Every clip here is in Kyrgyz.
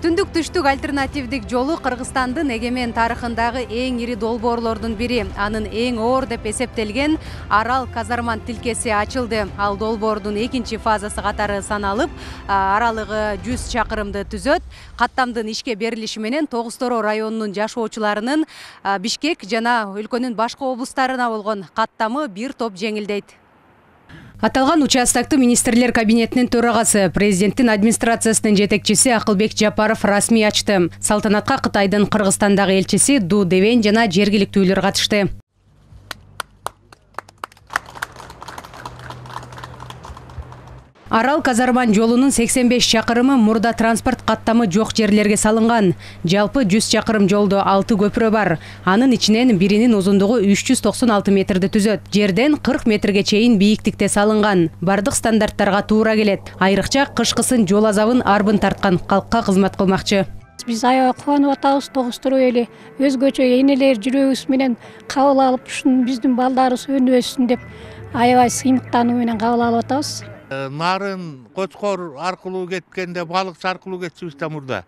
Түндүк түштүк альтернативдик жолу Кыргызстандын эгемен тарыхындагы эң ири долбоорлордун бири. Анын эң оор деп эсептелген Арал-Казарман тилкеси ачылды. Ал долбоордун экинчи фазасы катары саналып, аралыгы 100 чакырымды түзөт. Каттамдын ишке берилиши менен Тогуз Торо районунун жашоочуларынын Бишкек жана өлкөнүн башка облустарына болгон каттамы бир топ жеңилдейт. Аталган участокты министрлер кабинетинин төрагасы, президенттин администрациясынын жетекчиси Акылбек Жапаров расмий ачты. Салтанатка Кытайдын Кыргызстандагы элчиси Ду Девен жана жергиликтүүлөр катышты. Арал-Казарман жолунун 85 чакырымы мурда транспорт каттамы жок жерлерге салынган. Жалпы 100 чакырым жолдо 6 көпүрө бар. Анын ичинен биринин узундугу 396 метрди түзөт. Жерден 40 метрге чейин бийиктикте салынган. Бардык стандарттарга туура келет. Айрыкча кышкысын жол азабын арбын тарткан калкка кызмат кылмакчы. Биз аябай кубанып атабыз. Тогуз Торо эли өзгөчө энелер жүрөгүбүз менен кабыл алып, ушун биздин балдарыбыз өнүгөсүн деп аябай сыймыктануу менен кабыл алып атабыз. Нарын Кочкор аркылуу кеткенде, балыкчы аркылуу кетчүбүз да мурда.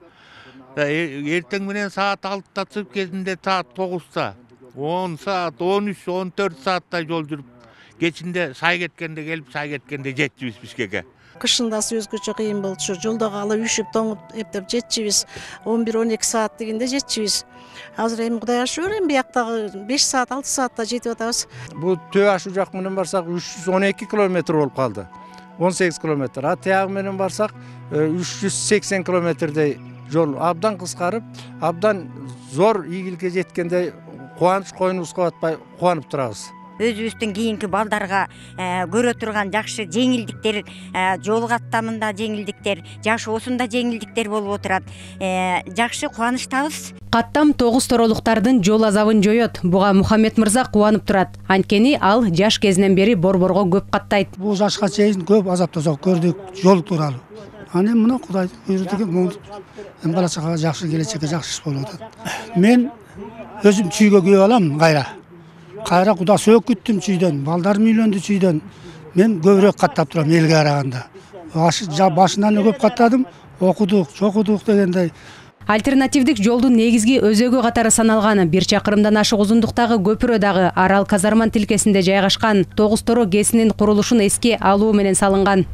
Эртең менен саат 6-та чыгып кезинде саат 9-та, 10 саат, 13, 14 сааттай жол жүрүп, кечинде сай кеткенде келип, сай кеткенде жетчүбүз Бишкекке. Кышындасы өзгөчө кыйын болду. Ушу жолдо калып, үшүп, тоңуп эптеп жетчүбүз. 11-12 саат дегенде жетчүбүз. Азыр эми Кудай ашыр, эми бияктагы 5 саат, 6 саатта жетип атабыз. Бул төө ашу жак менен барсак 312 километр болуп калды. 18 километр. А тиягы менен барсак 380 километрдей жол абдан кыскарып, абдан зор ийгиликке жеткендей кубаныч койнубузга батпай кубанып турабыз. Өзүбүздүн кийинки балдарга көрө турган жакшы жеңилдиктер, жол каттамында жеңилдиктер, жашоосунда жеңилдиктер болуп отурат. Жакшы кубанычтабыз. Каттам Тогуз Торолуктардын жол азабын жоёт. Буга Мухаммед мырза кубанып турат. Анткени ал жаш кезинен бери борборго көп каттайт. Бул жашка чейин көп азап тозок көрдүк жол тууралуу. Аны мына Кудай буйруп могут. Бала чагага жакшы келечекке жакшы иш болуп атат. Мен өзүм чүйгө күйөп алам кайра Куда сөөк күттүм чүйдөн, балдарым үйлөндү чүйдөн. Мен көбүрөөк каттап турам элге караганда. Башынан көп каттадым, окудук, чокудук дегендей. Альтернативдик жолдун негизги өзөгү катары саналган 1 чакырымдан ашык узундуктагы көпүрө дагы Арал-Казарман тилкесинде жайгашкан. Тогуз Торо ГЭСинин курулушун эске алуу менен салынган.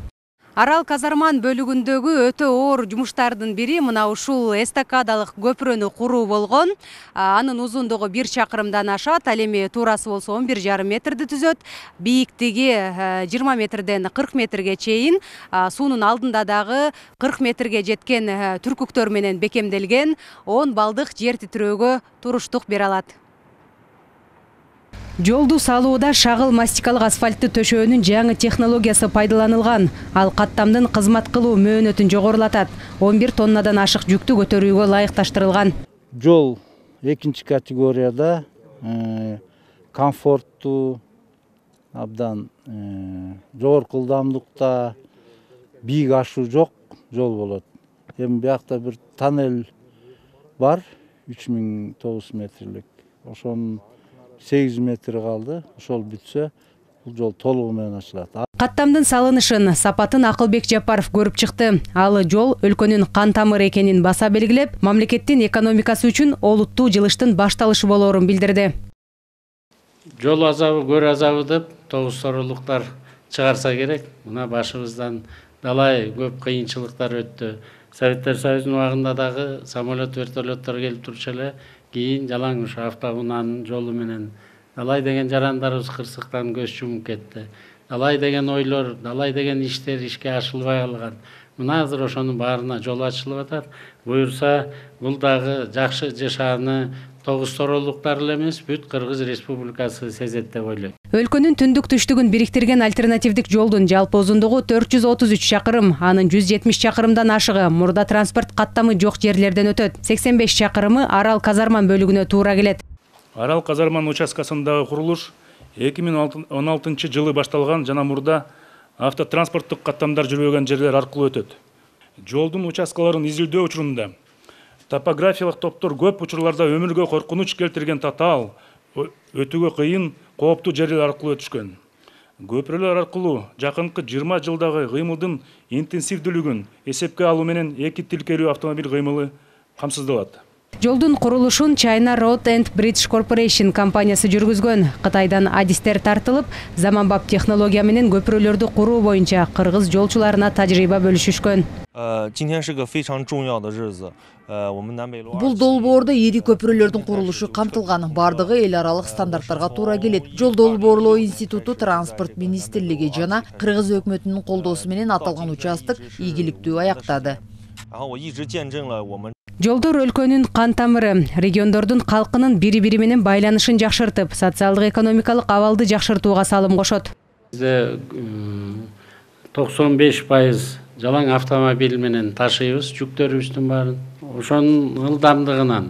Арал-Казарман бөлүгүндөгү өтө оор жумуштардын бири мына ушул эстакадалык көпүрөнү куруу болгон. Анын узундугу 1 чакырымдан ашат, ал эми туурасы болсо 11,5 метрди түзөт. Бийиктиги 20 метрден 40 метрге чейин, суунун алдында дагы 40 метрге жеткен түркүктөр менен бекемделген 10 балдык жер титирөөгө туруштук бере алат. Жолду салууда шагыл мастикалык асфальтты төшөөнүн жаңы технологиясы пайдаланылган. Ал каттамдын кызмат кылуу мөөнөтүн жогорулатат. 11 тоннадан ашык жүктү көтөрүүгө ылайыкташтырылган. Жол экинчи категорияда комфорттуу, абдан жогорку ылдамдыкта, бийик ашуу жок жол болот. Эми биякта бир тоннель бар, 3009 метрлик. Ошонун 8 метр калды. Ошол бүтсө, бул жол толугу менен ачылат. Каттамдын салынышын, сапатын Акылбек Жапаров көрүп чыкты. Ал жол өлкөнүн кан тамыры экенин баса белгилеп, мамлекеттин экономикасы үчүн олуттуу жылыштын башталышы болоорун билдирди. Жол азабы, көр азабы деп Тогуз Торолуктар чыгарса керек. Мына башыбыздан далай көп кыйынчылыктар өттү. Советтер Союзунун убагында дагы самолет, вертолеттор келип турчу эле. Кийин жалаң ушу автоунаанын жолу менен далай деген жарандарыбыз кырсыктан көз жумуп кетти. Далай деген ойлор, далай деген иштер ишке ашылбай калган. Мына азыр ошонун баарына жол ачылып атат. Буюрса, бул дагы жакшы жашааны Тогуз Торолуктар эле эмес, бүт Кыргыз Республикасы сезет деп ойлойм. Өлкөнүн түндүк түштүгүн бириктирген альтернативдик жолдун жалпы узундугу 433 чакырым, анын 170 чакырымдан ашыгы мурда транспорт каттамы жок жерлерден өтөт. 85 чакырымы Арал-Казарман бөлүгүнө туура келет. Арал-Казарман участкасындагы курулуш 2016 жылы башталган жана мурда автотранспорттук каттамдар жүрбөгөн жерлер аркылуу өтөт. Жолдун участкаларын изилдөө учурунда топографиялык топтор көп учурларда өмүргө коркунуч келтирген татаал, өтүүгө кыйын, кооптуу жерлер аркылуу өтүшкөн. Көпүрөлөр аркылуу жакынкы 20 жылдагы кыймылдын интенсивдүүлүгүн эсепке алуу менен 2 тилкелүү автомобиль кыймылы камсыздалат. Жолдун курулушун China Road and Bridge Corporation компаниясы жүргүзгөн. Кытайдан адистер тартылып, заманбап технология менен көпүрөлөрдү куруу боюнча кыргыз жолчуларына тажрыйба бөлүшүшкөн. Бул долбоордо ири көпүрөлөрдүн курулушу камтылган. Бардыгы эл аралык стандарттарга туура келет. Жол долбоорлоо институту, транспорт министрлиги жана кыргыз өкмөтүнүн колдоосу менен аталган участок ийгиликтүү аяктады. Жолдор өлкөнүн кан тамыры, региондордун калкынын бири-бири менен байланышын жакшыртып, социалдык экономикалык абалды жакшыртууга салым кошот. Бизде 95% жалаң автомобиль менен ташыйбыз жүктөрүбүздүн баарын. Ошонун ылдамдыгынан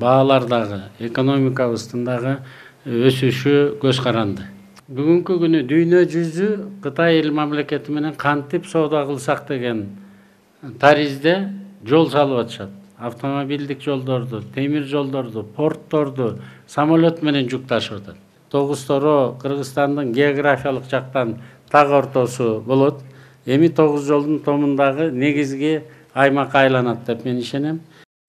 баалардагы, экономикабыздын дагы өсүшү көз каранды. Бүгүнкү күнү дүйнө жүзү Кытай эл мамлекети менен кантип соода кылсак деген таризде жол салып атышат. Автомобилдик жолдорду, темир жолдорду, портторду самолет менен жүк ташып атат. Тогуз-Торо Кыргызстандын географиялык жактан так ортосу болот. Эми тогуз жолдун томундагы негизги аймакка айланат деп мен ишенем.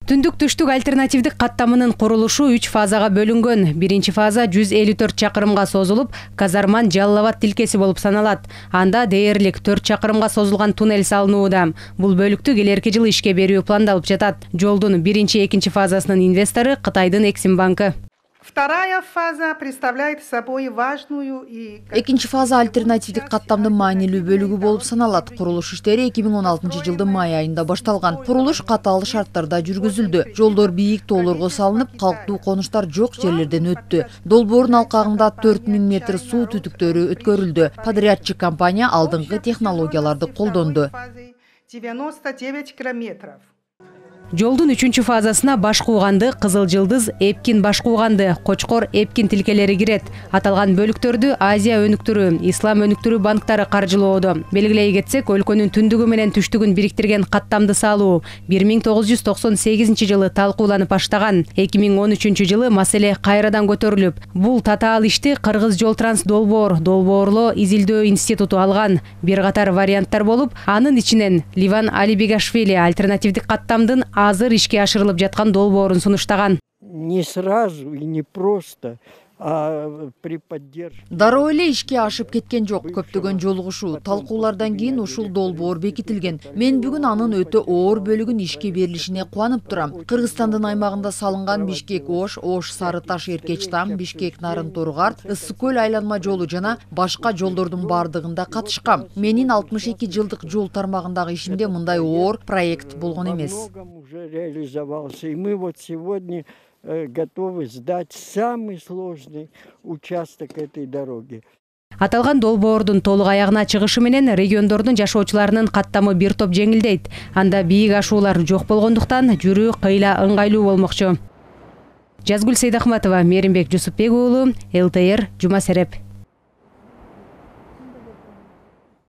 Түндүк-түштүк альтернативдик каттамынын курулушу 3 фазага бөлүнгөн. Биринчи фаза 154 чакырымга созулуп, Казарман Жалал-Абад тилкеси болуп саналат. Анда дээрлик 4 чакырымга созулган туннель салынууда. Бул бөлүктү келерки жылы ишке берүү пландалып жатат. Жолдун биринчи, экинчи фазасынын инвестору Кытайдын Эксим банкы. Вторая фаза представляет собой важную и... Экинчи фаза альтернативдик каттамдын маанилүү бөлүгү болуп саналат. Курулуш иштери 2016 жылдын май айында башталган. Курулуш катаал шарттарда жүргүзүлдү. Жолдор бийик тоолорго салынып, калктуу конуштар жок жерлерден өттү. Долбоордун алкагында 4000 метр суу түтүктөрү өткөрүлдү. Подрядчик компания алдыңкы технологияларды колдонду. 99 километров. Жолдун 3-чү фазасына Башкууганды, Кызыл Жылдыз, Эпкин Башкууганды, Кочкор, Эпкин тилкелери кирет. Аталган бөлүктөрдү Азия өнүктүрүү, Ислам өнүктүрүү банктары каржылоодо. Белгилей кетсек, өлкөнүн түндүгү менен түштүгүн бириктирген каттамды салуу 1998 жылы талкууланып баштаган. 2013 жылы маселе кайрадан көтөрүлүп, бул татаал ишти Кыргыз жол транс долбоорлоо изилдөө институту алган. Бир катар варианттар болуп, анын ичинен Ливан Алибегашвили альтернативдик каттамдын азыр ишке ашырылып жаткан долбоорун сунуштаган. Не сразу и не просто, а при поддержке. Дароо эле ишке ашып кеткен жок. Көптөгөн жолугушуу, талкуулардан кийин ушул долбоор бекитилген. Мен бүгүн анын өтө оор бөлүгүн ишке берилишине кубанып турам. Кыргызстандын аймагында салынган Бишкек-Ош, Ош-Сарыташ Эркечтам, Бишкек-Нарын-Торгарт, Ысык көл айланма жолу жана башка жолдордун бардыгында катышкам. Менин 62 жылдык жол тармагындагы ишимде мындай оор проект болгон эмес. Уже реализовался, и мы вот сегодня готовы сдать самый сложный участок этой дороги. Аталган долбоордун толук аягына чыгышы менен региондордун жашоочуларынын каттамы бир топ жеңилдейт. Анда бийик ашуулар жок болгондуктан жүрүү кыйла ыңгайлуу болмокчу. Жазгүл Сейдахматова, Меримбек Жусупбек уулу, ЛТР, Жума Сереп.